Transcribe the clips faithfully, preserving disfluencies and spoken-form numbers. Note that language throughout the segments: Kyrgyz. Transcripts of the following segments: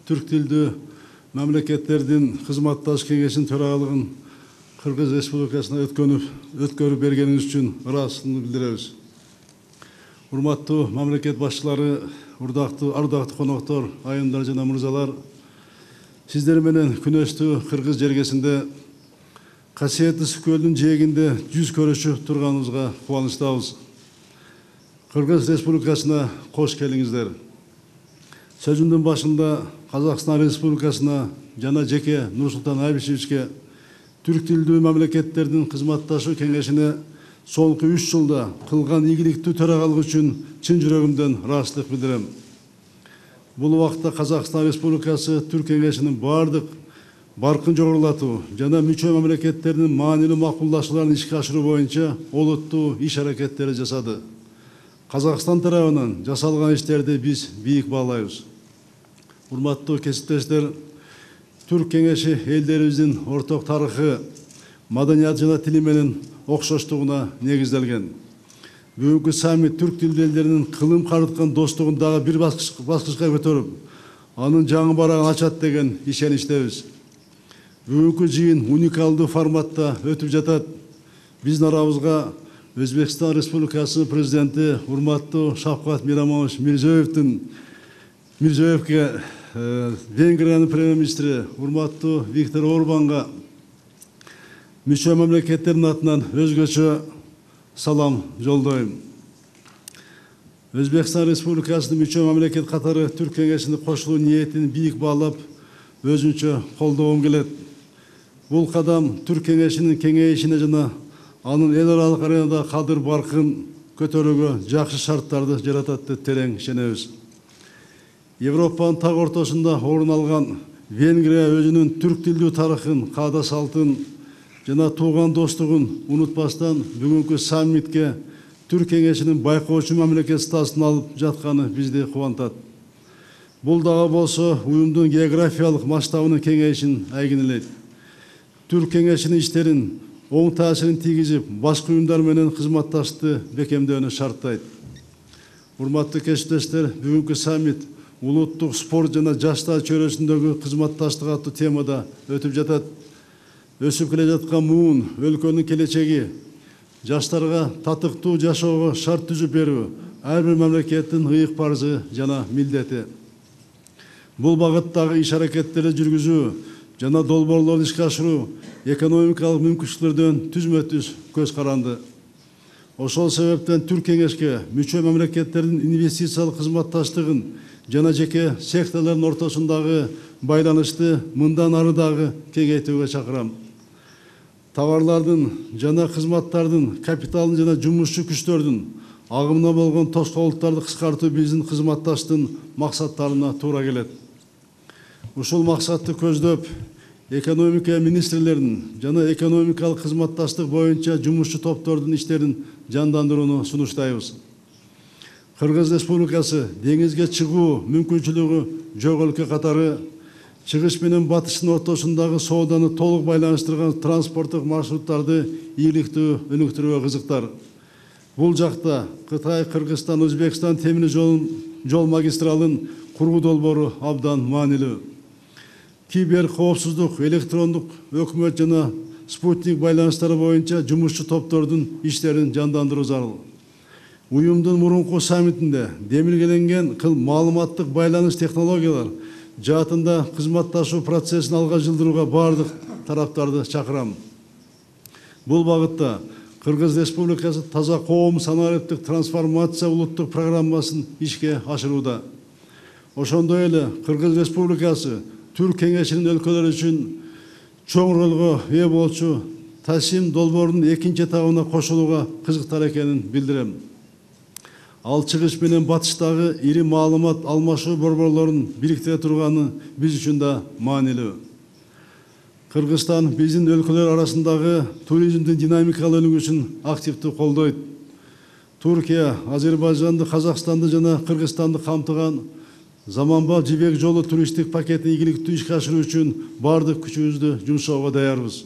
түрк тилдүү мамлекеттердин кызматташ кеңешинин төрагалыгын Кыргыз Республикасына өткөрүп бергениңиз үчүн ыраазычылык билдиребиз. Урматтуу мамлекет башчылары, ардактуу коноктор, айымдар жана мырзалар, сиздер менен күнөстүү Кыргыз жергесинде касиеттүү көлдүн жээгинде жүз көрүшүп турганыбызга кубанычтабыз. Кыргыз Республикасына кош келиңиздер. Сөзүмдүн башында Казакстан Республикасына жана жеке Нурсултан Абишевичке түрк тилдүү мамлекеттердин кызматташуу кеңешине соңку үч жылда кылган ийгиликтүү төрагалык үчүн чын жүрөгүмдөн ыраазычылык билдирем. Бул убакта Казакстан Республикасы түрк кеңешинин бардык баркын жогорулатуу жана мүчө мамлекеттердин маанилүү макулдашууларын ишке ашыруу боюнча олуттуу иш аракеттери жасады. Казакстан тарабынан жасалган иштерди биз бийик баалайбыз. Урматтуу кесиптештер, Түрк кеңеши элдерибиздин орток тарыхы, маданияты жана тили менен окшоштугуна негизделген. Бүгүнкү саммит түрк тилдүү элдеринин кылым карыткан достугун дагы бир баскычка көтөрүп, анын жаңы барагын ачат деген ишеничтебиз. Бүгүнкү жыйын уникалдуу форматта өтүп жатат. Биздин арабызга Өзбекстан Республикасы президенти урматтуу Шавкат Мирамонович Мирзиёевдин Мирзиёевке, Венгриянын премьер-министри урматтуу Виктор Орбанга мүчө мамлекеттердин атынан өзгөчө салам жолдойм. Өзбекстан Республикасынын мүчө мамлекет катары Түрк кеңешине кошулуу ниетин бийик баалап, өзүнчө колдогум келет. Бул кадам Түрк кеңешинин кеңейишине жана анын эл аралык аренада кадыр баркын көтөрүүгө жакшы шарттарды жаратат деп терең ишенебиз. Европанын так ортосунда орун алган Венгрия өзүнүн түрк тилдүү тарыхын, каада салтын жана тууган достугун унутпастан бүгүнкү саммитке Түрк кеңешинин байкоочу мамлекет статусун алып жатканы бизди кубантат. Бул дагы болсо уюмдун географиялык масштабынын кеңейишин айгинелейт. Түрк кеңешинин иштерин оң таасирин тийгизип, башка уюмдар менен кызматташты бекемдөөнү шарттайт. Урматтуу кесиптештер, бүгүнкү саммит улуттук спорт жана жаштар чөйрөсүндөгү кызматташтык аттуу темада өтүп жатат. Өсүп келе жаткан муун, өлкөнүн келечеги, жаштарга татыктуу жашоого шарт түзүп берүү ар бир мамлекеттин ыйык парзы жана милдети. Бул багыттагы иш аракеттерди жүргүзүү жана долбоорлорду ишке ашыруу экономикалык мүмкүнчүлүктөрдөн түзмө-түз көз каранды. Ошол себептен Түрк кеңешке мүчө мамлекеттердин инвестициялык кызматташтыгын жана жеке секторлордун ортосундагы байланышты мындан ары дагы кеңейтүүгө чакырам. Товарлардын жана кызматтардын, капиталдын жана жумушчу күчтөрдүн агымына болгон тоскоолдуктарды кыскартуу биздин кызматташтын максаттарына туура келет. Ушул максатты көздөп, экономика министрлеринин жана экономикалык кызматташтык боюнча жумушчу топтордун иштерин жандандырууну сунуштайбыз. Кыргыз Республикасы деңизге чыгуу мүмкүнчүлүгү жок өлкө катары чыгыш менен батыштын ортосундагы сооданы толук байланыштырган транспорттук маршруттарды ийгиликтүү өнүктүрүүгө кызыктар. Бул жакта Кытай, Кыргызстан, Өзбекстан темир жол магистралын куруу долбоору абдан маанилүү. Кибер коопсуздук, электрондук өкмөт жана спутник байланыштары боюнча жумушчу топтордун иштерин жандандыруу зарыл. Уюмдун мурунку саммитинде демилгеленген кыл маалыматтык байланыш технологиялар жаатында кызматташуу процессин алга жылдырууга бардык тараптарды чакырам. Бул багытта Кыргыз Республикасы таза коом санариптик трансформация улуттук программасын ишке ашырууда. Ошондой эле Кыргыз Республикасы Түрк кеңешинин өлкөлөр үчүн чоң ролго ээ болчу Тасим долбоорунун экинчи этабына кошулууга кызыктар экенин билдирем. Ал чыгыш менен батыштагы ири маалымат алмашуу борборлорун бириктире турганы биз үчүн да маанилүү. Кыргызстан биздин өлкөлөр арасындагы туризмдин динамикалуу өнүгүшүн активдүү колдойт. Туркия, Азербайжанды, Казакстанды жана Кыргызстанды камтыган заманбап жибек жолу туристтик пакетин ийгиликтүү ишке ашыруу үчүн бардык күчүбүздү жумшоого даярбыз.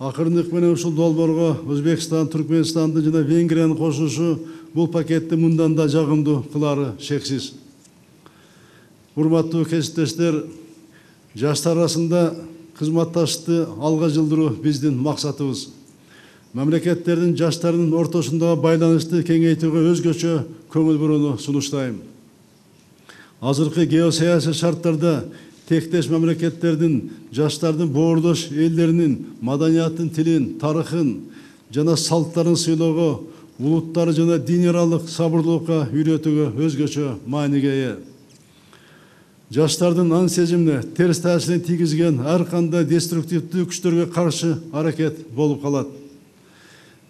Акырындык менен ушул долбоорго Өзбекстан, Түркмөнстанды жана Венгриянын кошулушу бул пакетти мындан да жагымдуу кылары шексиз. Урматтуу кесиптештер, жаштар арасында кызматташты алга жылдыруу биздин максатыбыз. Мамлекеттердин жаштардын ортосундагы байланышты кеңейтүүгө өзгөчө көңүл бурууну сунуштайм. Азыркы геосаясий шарттарда тектеш мамлекеттердин жаштардын боордош элдеринин маданиятын, тилин, тарыхын жана салттарын сыйлоого, улуттары жана динаралык сабырдуулукка үйрөтүүгө өзгөчө мааниге ээ. Жаштардын ан сезимине терс таасирин тийгизген ар кандай деструктивдүү күчтөргө каршы аракет болуп калат.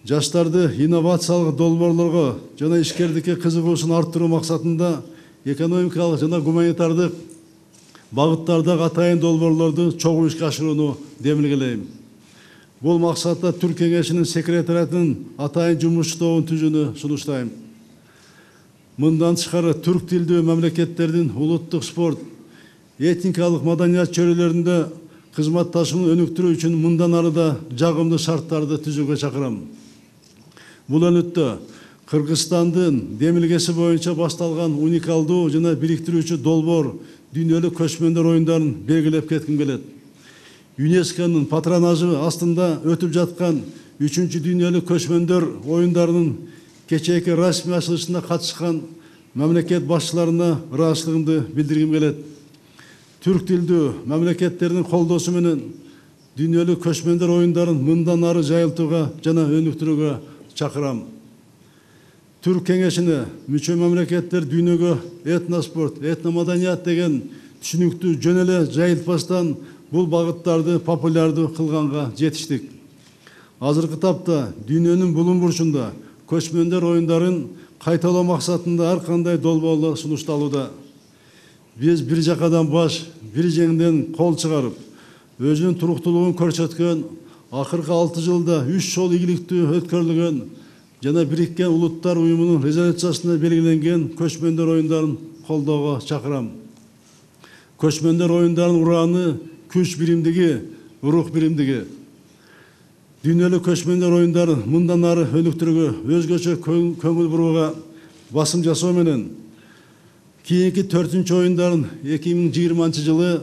Жаштарды инновациялык долбоорлорго жана ишкердикке кызыгуусун арттыруу максатында экономикалык жана гуманитардык багыттардагы атайын долбоорлорду чогуу ишке ашырууну демилгелейм. Бул максатта Түрк кеңешинин секретариатынын атайын жумуш тобун түзүүнү сунуштайм. Мындан тышкары түрк тилдүү мамлекеттердин улуттук спорт, этникалык маданият чөйрөлөрүндө кызматташууну өнүктүрүү үчүн мындан ары да жагымдуу шарттарды түзүүгө чакырам. Бул өнөттө Кыргызстандын демилгеси боюнча башталган уникалдуу жана бириктирүүчү долбоор дүйнөлүк көчмөндөр оюндарын белгилеп кетким келет. ЮНЕСКОнун патронажы астында өтүп жаткан үчүнчү дүйнөлүк көчмөндөр оюндарынын кечээки расмий ачылышына катышкан мамлекет башчыларына ыраазычылыгымды билдиргим келет. Түрк тилдүү мамлекеттердин колдоосу менен дүйнөлүк көчмөндөр оюндарын мындан ары жайылтууга жана өнүктүрүүгө чакырам. Түрк кеңешине мүчө мамлекеттер дүйнөгө этноспорт, этномаданият деген түшүнүктү жөн эле жайылтпастан бул багыттарды популярдуу кылганга жетиштик. Азыркы тапта дүйнөнүн булуң бурчунда көчмөндөр оюндарын кайталоо максатында ар кандай долбоорлор сунушталууда. Биз бир жакадан баш, бир жеңден кол чыгарып, өзүнүн туруктуулугун көрсөткөн, акыркы алты жылда үч жол ийгиликтүү өткөрүлгөн жана Бириккен Улуттар уюмунун резолюциясында белгиленген көчмөндөр оюндарын колдоого чакырам. Көчмөндөр оюндарынын урааны күч биримдиги, рух биримдиги. Дүйнөлүк көчмөндөр оюндарын мындан ары өнүктүрүүгө өзгөчө көңүл бурууга басым жасоо менен кийинки төртүнчү оюндарын эки миң жыйырманчы жылы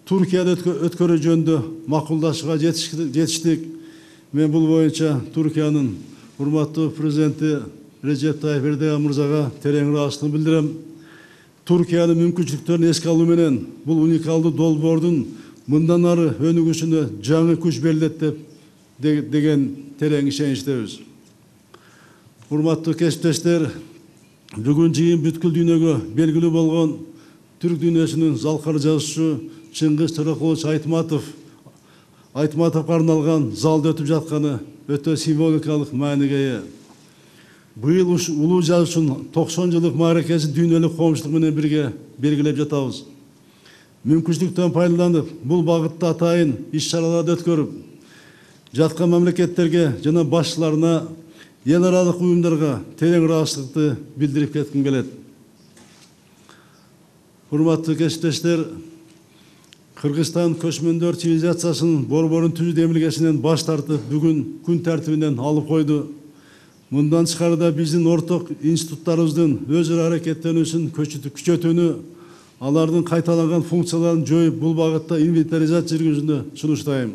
Туркияда өткөрүү жөнүндө макулдашууга жетиштик. Мен бул боюнча Туркиянын урматтуу президенти Режеп Тайып Эрдоган мырзага терең ыраазычылык билдирем. Туркиянын мүмкүнчүлүктөрүн эске алуу менен бул уникалдуу долбоордун мындан ары өнүгүшүнө жаңы күч берилет деп деген терең ишеничтебиз. Урматтуу кесиптештер, бүгүн жыйын бүткүл дүйнөгө белгилүү болгон түрк дүйнөсүнүн залкар жазуучусу Чыңгыз Төрөкулович Айтматов Айтматовго арналган залда өтүп жатканы өтө символикалык мааниге ээ. Быйыл улуу жазуучунун токсон жылдык мааракесин дүйнөлүк коомчулук менен бирге белгилеп жатабыз. Мүмкүнчүлүктөн пайдаланып, бул багытта атайын иш-чараларды өткөрүп, жаткан мамлекеттерге жана башчыларына, эл аралык уюмдарга терең ыраазычылыкты билдирип кетким келет. Урматтуу кесиптештер, Кыргызстан көчмөндөр цивилизациясынын борборун түзүү демилгесинен баш тартып, бүгүн күн тартибинен алып койду. Мындан тышкары да биздин орток институттарыбыздын өз ара аракеттенүүсүн күчөтүүнү, алардын кайталанган функцияларын жоюп, бул багытта инвентаризация жүргүзүүнү сунуштайм.